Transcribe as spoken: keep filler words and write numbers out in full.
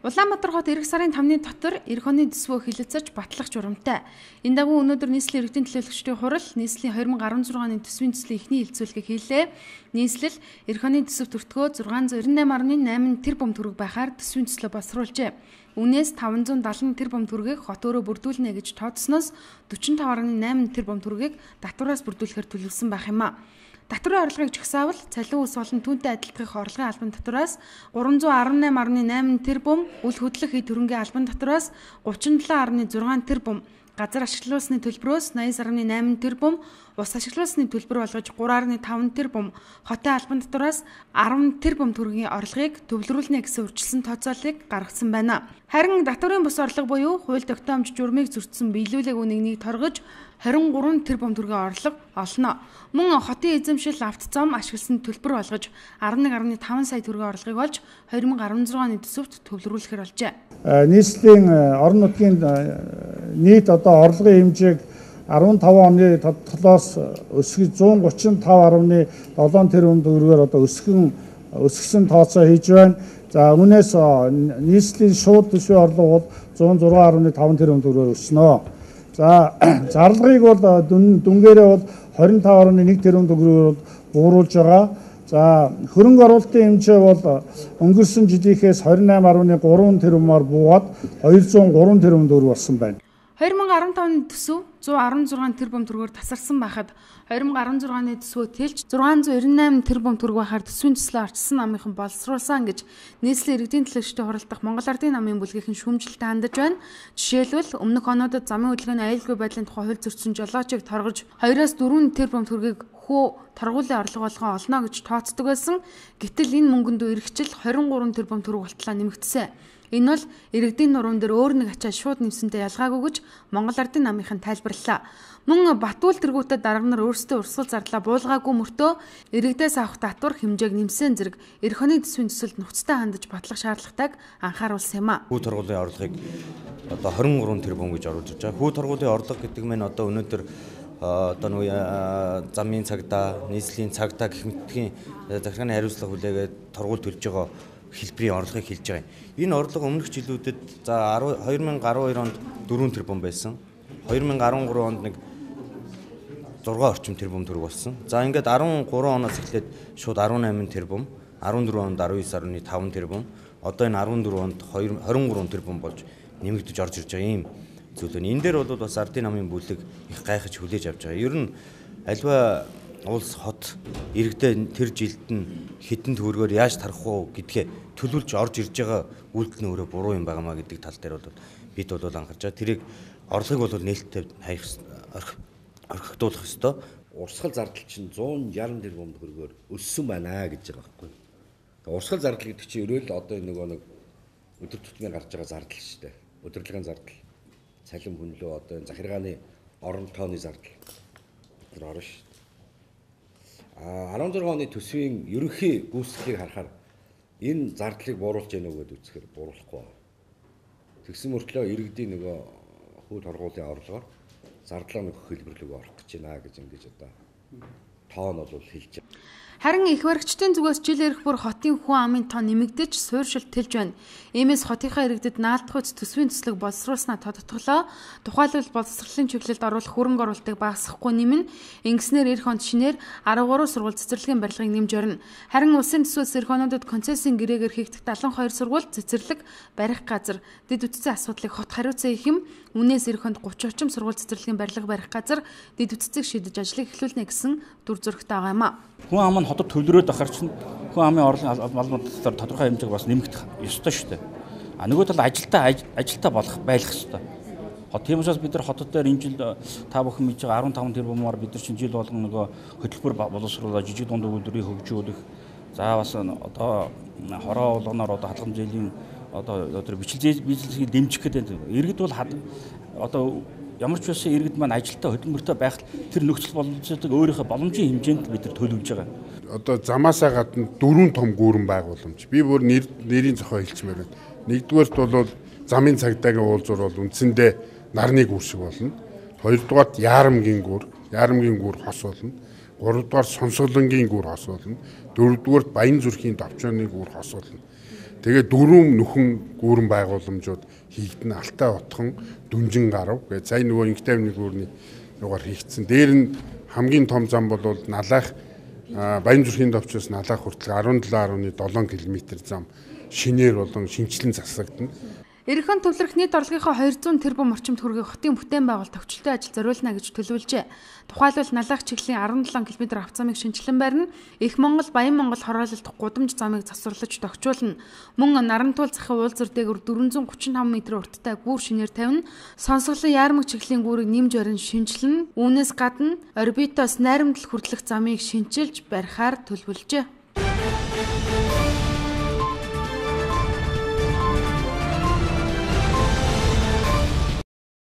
Улаанбаатар хот эх сарын тамны дотор эх оны төсвөө хилэлцэж батлах журамтай. Энэ дагуу өнөөдөр нийслэлийн иргэдийн төлөөлөгчдийн хурал нийслэлийн две тысячи десять оны төсвийн төслийн эхний хилцүүлгийг хийлээ. Нийслэл эх оны төсөв төртгөө six hundred ninety-eight point eight тэрбум төгрөг байхаар төсвийн төслөө боловсруулжээ. Үүнээс five hundred seventy тэрбум төгрөгийг хот өөрөө бүрдүүлнэ гэж тооцсноос forty-five point eight тэрбум төгрөгийг татвараас бүрдүүлэхээр төлөвлөсөн байх юм а. Татварын орлогыг жагсаавал цалин ус болон түүнтэй адилдахын орлогын албан татвараас three eighty-eight point eight тэрбум, үл хөдлөх хэд хөрөнгөний албан татвараас thirty-seven point six тэрбум, газар ашиглуулсны төлбөрөөс ninety-eight point eight тэрбум, ус ашиглуулсны төлбөр болгож three point five тэрбум, хотын албан татвараас ten тэрбум төгрөгийн орлогыг төвлөрүүлнэ гэсэн үржилсэн тооцооллыг гаргасан байна. Харин татварын бус орлого буюу хууль тогтоомж журмыг зөрчсөн биелүүлэг үнэнийг торгож twenty-three тэрбум төгрөгийн орлого олно. Мөн хотын эзэмшил авто зам ашигласан төлбөр болгож eleven point five сая төгрөгийн орлогыг олж twenty sixteen оны төсөвт төвлөрүүлэхээр болжээ. Нийслэлийн орон нутгийн нийт одоо орлогын хэмжээг fifteen оны тогтолоос өсгөж one thirty-five point seven тэрбум төгрөгөөр одоо өсгөн өсгсөн тооцоо хийж байна. За үүнээс нийслэлийн шууд төсвийн орлого бол one oh six point five тэрбум төгрөгөөр өснө. За зарлагыг бол дүнгээрээ бол twenty-five point one тэрбум төгрөгөөр бууруулж байгаа. За хөрөнгө оруулалтын хэмжээ бол өнгөрсөн жилийнхээс twenty-eight point three тэрбумаар буугаад two hundred three тэрбум төгрөг болсон байна. twenty fifteen оны төсөв one sixteen тэрбум төгрөгөөр тасарсан байхад twenty sixteen оны төсвөө тэлж six hundred ninety-eight тэрбум төгрөг байхаар төсвийн төслөө арчсан намынхан боловсруулсан гэж нийслэлийн иргэдийн төлөөлөгчдийн хуралдах Монгол Ардын намын бүлгийн шүүмжлэлтэй хандаж байна. Жишээлбэл өмнөх онуудад замын хөдөлгөөний аюулгүй байдлын тухай хууль зөрчсөн жолоочийг торгож two-аас four тэрбум төгрөгийг хөө торгуулийн орлого болгон олно гэж тооцдог байсан. Гэтэл энэ мөнгөнд эргэжил twenty-three тэрбум төгрөг болтлоо нэмэгдсэн. Энэ бол иргэдийн нуруунд дээр өөр нэг ачаа шууд нэмсэнтэй ялгаагүй гэж Монгол Ардын намынхан тайлбарллаа. Мөн Батуул тэргүүтээ дарга нар өөрсдөө урсгал зарлаа буулгаагүй мөртөө иргэдээс авах татвар хэмжээг нэмсэн зэрэг эх оны төсвийн төсөлд нухацтай хандаж батлах шаардлагатайг анхааруулсан юм а. Хүү торгуулийн орлогыг одоо twenty-three тэрбум гэж оруулж байгаа. Хүү торгуулийн орлого гэдэг нь одоо өнөөдөр одоо нэг замын цагдаа, нийслэлийн цагдаа гэх мэтийн захиргааны хариуцлага хүлээгээд торгуул төлж байгаа хэлбэрийн орлогыг хэлж байгаа юм. Энэ орлого өмнөх жилүүдэд за twenty twelve онд four тэрбум байсан. twenty thirteen онд нэг six орчим тэрбум төгрөг болсон. За ингээд thirteen оноос эхлээд шууд eighteen тэрбум, fourteen онд nineteen point five тэрбум, одоо энэ fourteen онд twenty-three тэрбум болж нэмэгдэж орж ирж байгаа юм зүйл нь. Энэ дээр бол бас Ардын намын бүлэг их гайхаж хүлээж авч байгаа. Ер нь альва улс хот иргэдээ тэр жилд нь хэдэн төгрөгөөр яаж тарах уу гэдгээ төлөвлөж орж ирж байгаа үйлдэл нь өөрөө буруу юм байнамаа гэдэг тал дээр бол бид бол анхаарч байгаа. Тэрийг орлогыг бол нээлттэй хаях орхигдуулах ёстой. Урсгал зардал чинь one sixty тэрбум төгрөгөөр өссөн байна гэж байгаа байхгүй. Тэгээ урсгал зардал гэдэг чинь ерөөл одоо нөгөө нэг өдөр тутмын гарч байгаа зардал шүү дээ. Удирдлагын зардал, цалин хүнлөө одоо энэ захиргааны орон тооны зардал тэр орно шүү. А sixteen оны төсвийн ерөнхий гүйцэтгэлийг харахаар энэ зардлыг бууруулж яах вэ гэдээ үзэхээр бууруулахгүй байна. Тэгсэн мөртлөө иргэдийн нөгөө хүү торгуулийн орлогоор зардлаа нөхөх хэлбэрлэг орох гэж байна гэж ингэж одоо тоон бол хэлж байна. Харин их баригчдын зүгээс жил ирэх бүр хотын хүн амын тоо нэмэгдэж суурьшилт тэлж байна. Иймээс хотынхаа иргэдэд наалдах үс төсвийн төслөг боловсруулснаа тодотголоо. Тухайлбал боловсролын чиглэлд оруулах хөрөнгө оруулалтыг багасгахгүй нэмнэ. Ингэснээр эх онд шинээр thirty-three сургууль цэцэрлэгийн барилгыг нэмж орно. Харин улсын төсвөөс эх онуудад концессийн гэрээгээр хийгдэх seventy-two сургууль цэцэрлэг барих газар дэд үтцийн асуудлыг хот хариуцсан их юм. Үнээс эх онд thirty орчим сургууль цэцэрлэгийн барилга барих газар дэд үтцийг шийдэж ажлыг эхлүүлнэ гэсэн дүр зурагтай байгаа юм а. Хүн ам нь хотод төлрөөд ахаар чинь хүн амын орлого малмууд дотор тодорхой хэмжээг бас нэмэгдэх ёстой шүү дээ. А нөгөө тал ажилтаа ажилтаа болох байх ёстой. Хот тийм учраас бид нар хотод дээр энэ жил та бүхэн мэдж байгаа fifteen тэрбумаар бид нар чинь жил болгон нөгөө хөтөлбөр боловсруулаад жижиг дунд үйлдвэрийг хөгжүүлэх. За бас одоо хороо болгоноор одоо хадгалан зээлийн одоо одоо бичлэг бизнесийг дэмжих гэдэг. Иргэд бол одоо ямар ч байсан иргэд маань ажилтаа хөдөлмөртэй байх тэр нөхцөл боломжуудыг өөрийнхөө боломжийн хэмжээнд бид нар төлөвлөж байгаа. Одоо замаасаа гадна дөрвөн том гүүрэн байгууламж. Би бүр нэрийн зохио хэлчмээр байна. Нэгдүгээрт бол замын цагдаагийн уулзуур бол үндсэндээ нарны гүүр шиг болно. Хоёрдугаарт Яарамгийн гүүр, Яарамгийн гүүр хос болно. Гуравдугаар Сонсголонгийн гүүр хос болно. Дөрөвдүгээрт Баян зүрхийн Довчооны гүүр хос болно. Тэгээ дөрвөн нүхэн гүүрэн байгууламжууд хийгдэн Алтай отхон Дүнжин гарав. Тэгээ сая нөгөө Инхтэй авны гүүрний югаар хийгдсэн. Дээр нь хамгийн том зам бол Налайх Баянзүрхийн товчоос Налайх хүртэл арван долоо гаруй долоо км зам шинээр болон шинчлэн засагдана. Ерөнхий төвлөрөх нийт орлогынхоо хоёр зуун тэрбум орчим төгрөгийг хотын бүтээн байгуулалт төвчлөлтөй ажил зориулна гэж төлөвлөжээ. Тухайлбал Налайх чиглэлийн арван долоо км авто замыг шинжилэн барина. Их Монгол, Баян Монгол хороололт гудамж замыг засварлаж тогтчуулна. Мөн Нарантуул захын уулзар дээгүүр дөрвөн зуун гучин таван м урттай гүүр шинээр тавина. Сонсголон Яармаг чиглэлийн гүүрийг нэмж барин шинжилнэ. Үүнээс гадна орбитоос найрамдал хүртэлх замыг шинчилж барихаар төлөвлөжээ.